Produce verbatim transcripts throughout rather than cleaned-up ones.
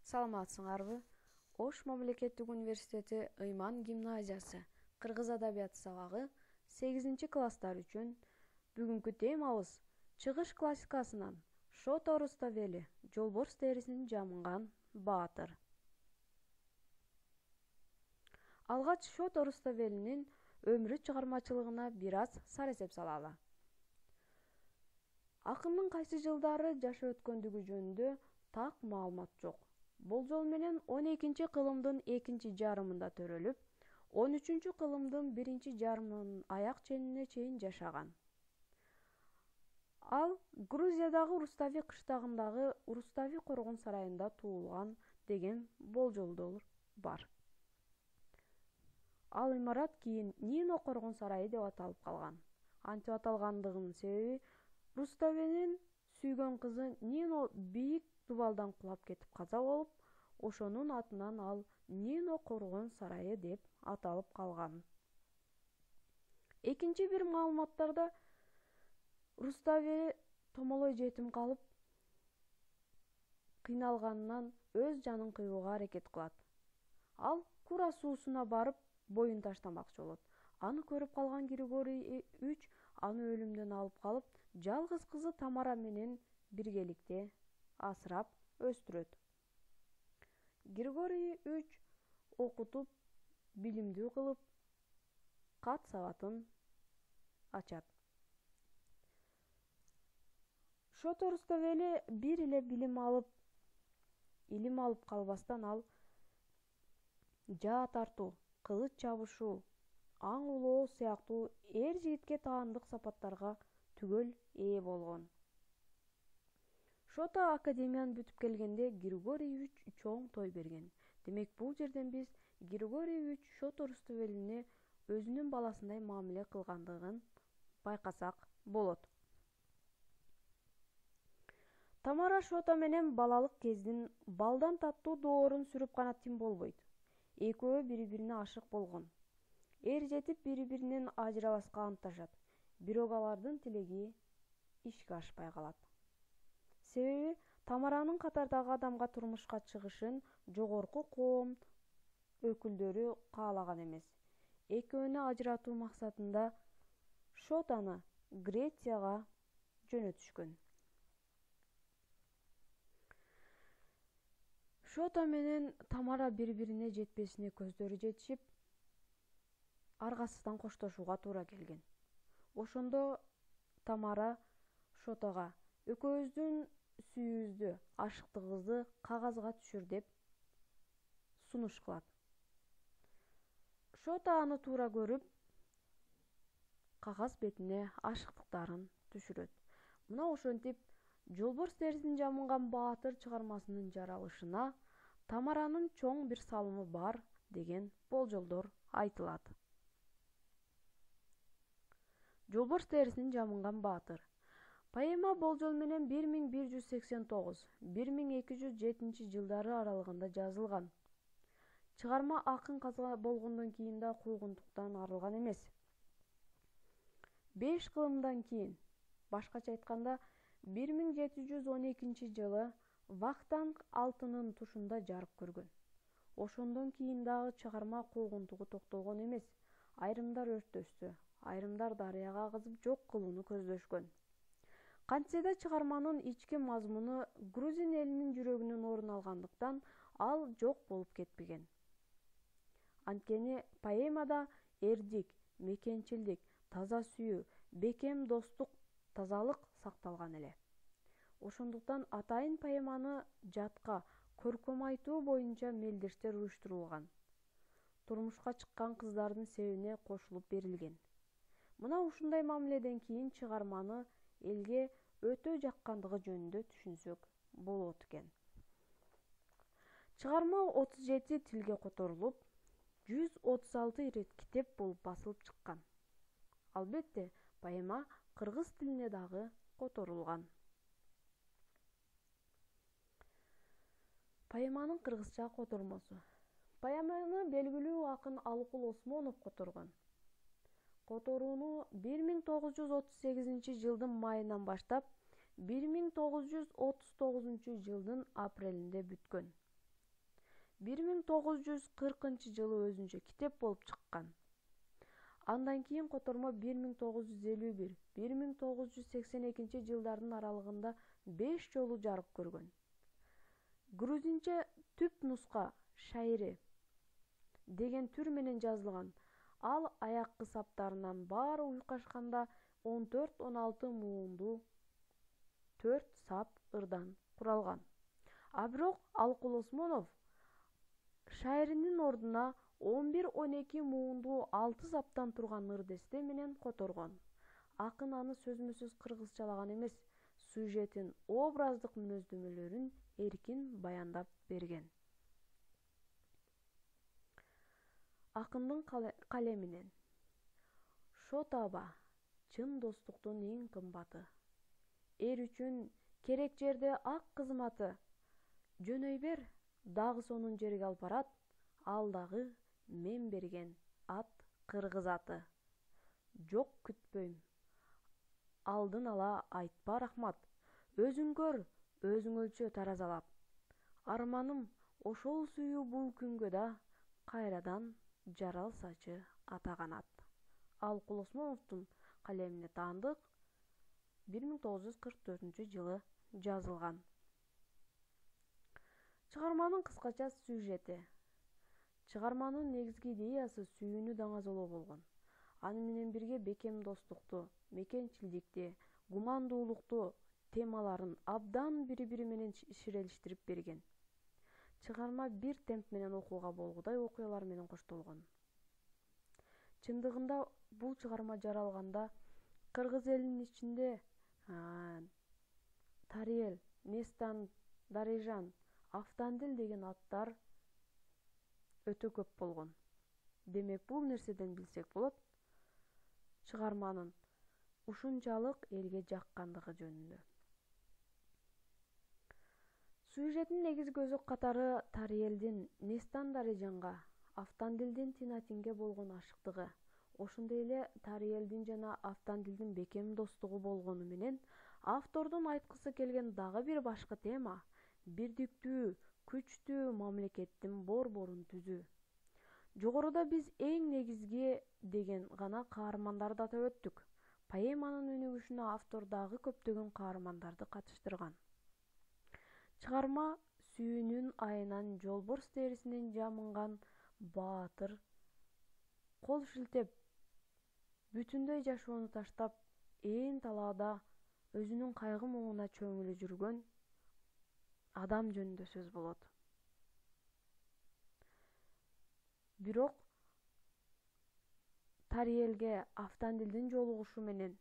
Саламатсыңарбы? Ош мамлекеттик университети Ыйман гимназиясы кыргыз адабияты сабагы сегизинчи класстар үчүн бүгүнкү темабыз чыгыш классикасынан Шото Руставели жолборс терисин жамынган баатыр. Алгач Шото Руставелинин өмүрү чыгармачылыгына бир аз сарэсеп салалы. Акындын кайсы жылдары жашап өткөндүгү жөнүндө так маалымат жок. Болжол менен он экинчи кылымдын экинчи жарымында төрөлүп, он үчүнчү кылымдын биринчи жарымынын аяк ченине чейин жашаган. Ал Грузиядагы Рустави кыштагындагы Рустави коргон сарайында туулган деген болжолдор бар. Ал имарат кийин Нино коргон сарайы деп аталып калган. Антип аталгандыгынын себеби Руставинин сүйгөн кызы Нино бийик дубалдан кулап кетип каза болуп, ошонун атынан ал Нино коргон сарайы деп аталып калган. Экинчи бир маалыматтарда Руставели томолой жетим калып, кыйналганынан өз жанын кыйууга аракет кылат. Ал Кура суусуна барып, боюн таштамакчы болот. Аны көрүп калган Григорий үч аны өлүмдөн алып калып, жалгыз кызы Тамара менен биргеликте асырап өстүрөт. Григорий үч окутуп, билимдүү кылып, кат сабатын ачат. Шото Руставели бир эле билим алып, илим алып калбастан ал жаа тартуу, кылыч чабышуу, аң улоо сыяктуу эр жигитке таандык сапаттарга түгөл ээ болгон. Шото академияны бүтүп келгенде Григорий үч чоң той берген. Демек бул жерден биз Григорий үч Шото Руставелине өзүнүн баласындай мамиле кылгандыгын байкасак болот. Тамара Шото менен балалык кездин балдан таттуу доорун сүрүп гана тим болбойт. Экөө бири-бирине ашык болгон. Эр жетип бири-биринен ажырабаска антташат. Бирок алардын тилеги ишке ашпай калат. Себеби Тамаранын катардагы адамга турмушка чыгышын жогорку коом өкүлдөрү каалаган эмес. Экөөнү ажыратуу максатында Шотону Грецияга жөнөтүшкөн. Шото менен Тамара бири-бирине жетпесине көздөрү жетишип, аргасыздан коштошууга туура келген. Ошондо Тамара Шотого экөөбүздүн сүйүүбүздү, ашыктыгыбызды кагазга түшүр деп сунуш кылат. Шото аны туура көрүп, кагаз бетине ашыктыктарын түшүрөт. Мына ошентип жолборс терисин жамынган баатыр чыгармасынын жаралышына Тамаранын чоң бир салымы бар деген болжолдор айтылат. Жолборс терисин жамынган баатыр. Поэма болжол менен бир миң бир жүз сексен тогуз — бир миң эки жүз жетинчи жылдары аралыгында жазылган. Чыгарма акын каза болгондон кийин да куугунтуктан арылган эмес. Беш кылымдан кийин, башкача айтканда, бир миң жети жүз он экинчи жылы Вахтанг алтынын тушунда жарык көргөн. Ошондон кийин дагы чыгарма куугунтугу токтогон эмес. Айрымдар өрттөштү, айрымдар дарыяга агызып жок кылууну көздөшкөн. Кантсе да чыгарманын ички мазмуну грузин элинин жүрөгүнөн орун алгандыктан ал жок болуп кетпеген. Анткени поэмада эрдик, мекенчилдик, таза сүйүү, бекем достук, тазалык сакталган эле. Ошондуктан атайын поэманы жатка, көркөм айтуу боюнча мелдештер уюштурулган. Турмушка чыккан кыздардын себине кошулуп берилген. Мына ушундай мамиледен кийин чыгарманы элге өтө жаккандыгы жөнүндө түшүнсөк болот экен. Чыгарма отуз жети тилге которулуп, жүз отуз алты ирет китеп болуп басылып чыккан. Албетте, поэма кыргыз тилине дагы которулган. Поэманын кыргызча котормосу. Поэманы белгилүү акын Алыкул Осмонов которгон. Которууну бир миң тогуз жүз отуз сегизинчи жылдын майынан баштап бир миң тогуз жүз отуз тогузунчу жылдын апрелинде бүткөн. бир миң тогуз жүз кыркынчы жылы өзүнчө китеп болуп чыккан. Андан кийин котормо бир миң тогуз жүз элүү бир — бир миң тогуз жүз сексен экинчи жылдардын аралыгында беш жолу жарык көргөн. Грузинче түп нуска «Шайри» деген түр менен жазылган. Ал аяккы саптарынан баары уйкашканда он төрт он алты муунду төрт сап ырдан куралган. А бирок Алкул Осмонов «Шайринин ордуна он бир он эки муунду алты саптан турган ыр-десте менен которгон. Акын аны сөзмө-сөз кыргызчалаган эмес, сюжетин, образдык мүнөздөмөлөрүн эркин баяндап берген. Акындын калеминен. Шот аба — чын достуктун эң кымбаты. Эр үчүн керек жерде ак кызматы. Жөнөй бер, дагы сонун жерге алып барат. Ал дагы мен берген ат кыргыз аты. Жок күтпөйм, алдын ала айтпа рахмат. Өзүң көр, өзүң өлчө таразалап. Арманым ошол сүйүү бул күнгө да кайрадан жаралсачы ата канат. Алкул Осмоновдун калемине таандык бир миң тогуз жүз кырк төртүнчү жылы жазылган. Чыгарманын кыскача сюжети. Чыгарманын негизги идеясы сүйүүнү даңазолоо болгон. Аны менен бирге бекем достукту, мекенчилдикти, гумандуулукту темаларын абдан бири-бири менен ширелиштирип берген. Чыгарма бир темп менен окууга болгудай окуялар менен коштолгон. Чындыгында бул чыгарма жаралганда кыргыз элинин ичинде Тариэл, Нестан Дарыжан, Автандил деген аттар өтө көп болгон. Демек, бул нерседен билсек болот чыгарманын ушунчалык элге жаккандыгы жөнүндө. Сюжеттин негизги өзөк катары Тариэлдин Нестан Дарыжанга, Автандилдин Тинатинге болгон ашыктыгы, ошондой эле Тариэлдин жана Автандилдин бекем достугу болгону менен автордун айткысы келген дагы бир башкы тема — бирдиктүү, күчтүү мамлекеттин борборун түзүү. Жогоруда биз эң негизги деген гана каармандарды атап өттүк. Поэманын өнүгүшүнө автор дагы көптөгөн каармандарды катыштырган. Чыгарма сүйүүнүн айынан жолборс терисинен жамынган баатыр, кол шилтеп, бүтүндөй жашоону таштап, ээн талаада өзүнүн кайгы-муңуна чөмүлө жүргөн адам жөнүндө сөз болот. Бирок Тариэлге Автандилдин жолугушу менен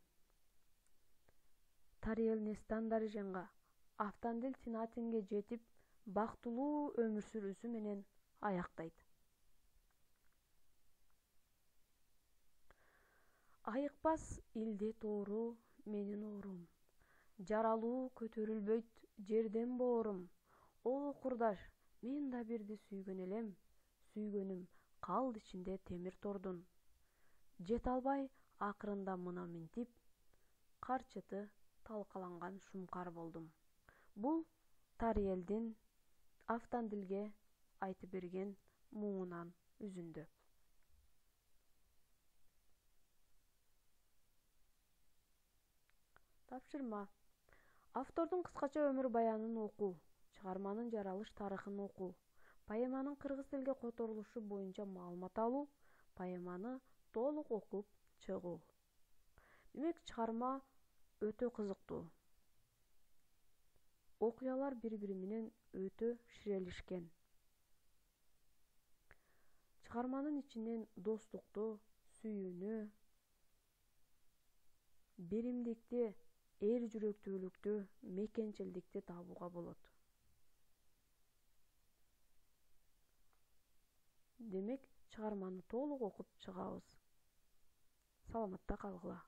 Тариэл Нестан Дарыжанга, Автандил Тинатинге жетип, бактылуу өмүр сүрүүсү менен аяктайт. Айыкпас илде тоору менин оорум, жаралуу көтөрүлбөйт жерден боорум. О курдаш, мен да бирди сүйгөн элем, сүйгөнүм калды ичинде темир тордун. Жете албай акырында мына минтип, карчыты талкаланган шумкар болдум. Бул Тариэлдин Автандилге айтып берген муңунан үзүндү. Тапшырма. Автордун кыскача өмүр баянын окуу, чыгарманын жаралыш тарыхын окуу, поэманын кыргыз тилге которулушу боюнча маалымат алуу, поэманы толук окуп чыгуу. Демек, чыгарма өтө кызыктуу. Окуялар бири-бири менен өтө ширелишкен. Чыгарманын ичинен достукту, сүйүүнү, беримдикти, эр жүрөктүүлүктү, мекенчилдикти табууга болот. Демек, чыгарманы толук окуп чыгабыз. Саламатта калгыла.